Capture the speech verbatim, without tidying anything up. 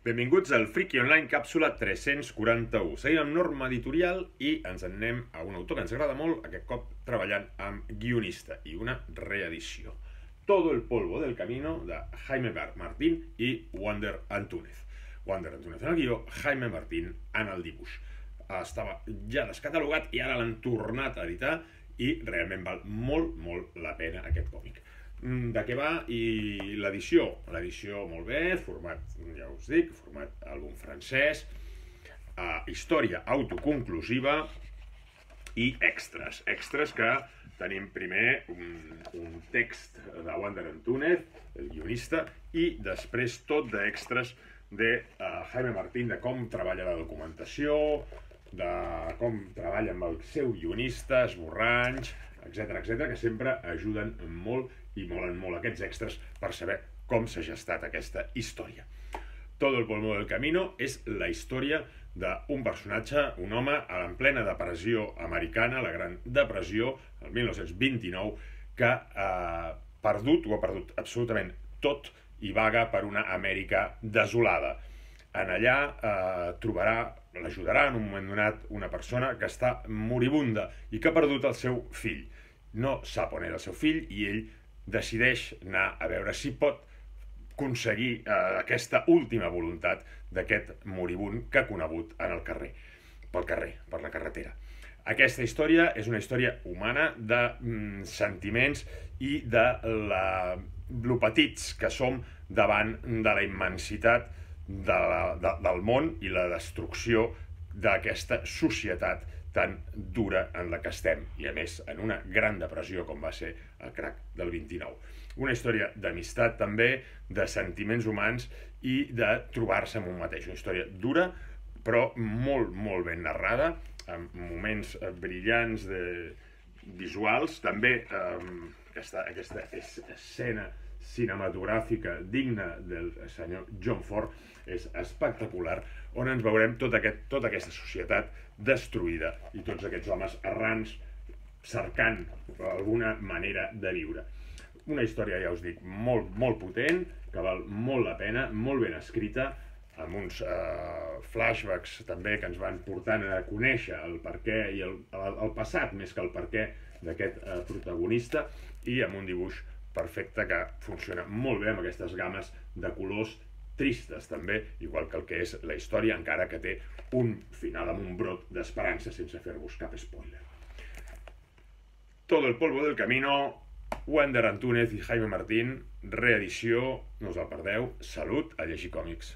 Benvinguts al Friki Online càpsula tres-cents quaranta-u. Seguim amb norma editorial i ens en anem a un autor que ens agrada molt, aquest cop treballant amb guionista i una reedició. Todo el polvo del camino de Jaime Martín i Wander Antúnez. Wander Antúnez en el guió, Jaime Martín en el dibuix. Estava ja descatalogat i ara l'han tornat a editar i realment val molt, molt la pena aquest còmic. De què va? I l'edició, l'edició molt bé, format, ja us dic, format àlbum francès, eh, història autoconclusiva i extras, extras que tenim primer un, un text de Wander Antúnez, el guionista, i després tot d'extras de uh, Jaime Martín, de com treballa la documentació, de com treballa amb el seu guionista, esborranys, etcètera, etcètera, que sempre ajuden molt i molen molt aquests extras per saber com s'ha gestat aquesta història. Todo el polvo del camino és la història d'un personatge, un home a la plena depressió americana, la Gran Depressió, el mil nou-cents vint-i-nou, que ha perdut, ho ha perdut absolutament tot i vaga per una Amèrica desolada. En allà eh, trobarà, l'ajudarà en un moment donat una persona que està moribunda i que ha perdut el seu fill. No sap on era el seu fill i ell decideix anar a veure si pot aconseguir eh, aquesta última voluntat d'aquest moribund que ha conegut en el carrer, pel carrer, per la carretera. Aquesta història és una història humana de mm, sentiments i de la, lo petits que som davant de la immensitat de la, de, del món i la destrucció d'aquesta societat tan dura en la que estem, i a més en una gran depressió com va ser el crac del vint-i-nou. Una història d'amistat també, de sentiments humans i de trobar-se amb un mateix. Una història dura, però molt, molt ben narrada, amb moments brillants de, visuals, també eh, aquesta, aquesta escena cinematogràfica digna del senyor John Ford és espectacular, on ens veurem tot aquest, tota aquesta societat destruïda i tots aquests homes errants cercant alguna manera de viure. Una història, ja us dic, molt, molt potent, que val molt la pena, molt ben escrita, amb uns eh, flashbacks també que ens van portant a conèixer el perquè i el, el, el passat més que el perquè d'aquest eh, protagonista, i amb un dibuix perfecte que funciona molt bé amb aquestes games de colors tristes també, igual que el que és la història, encara que té un final amb un brot d'esperança sense fer-vos cap spoiler. Todo el polvo del camino, Wander Antúnez i Jaime Martín, reedició, no us el perdeu, salut a llegir còmics.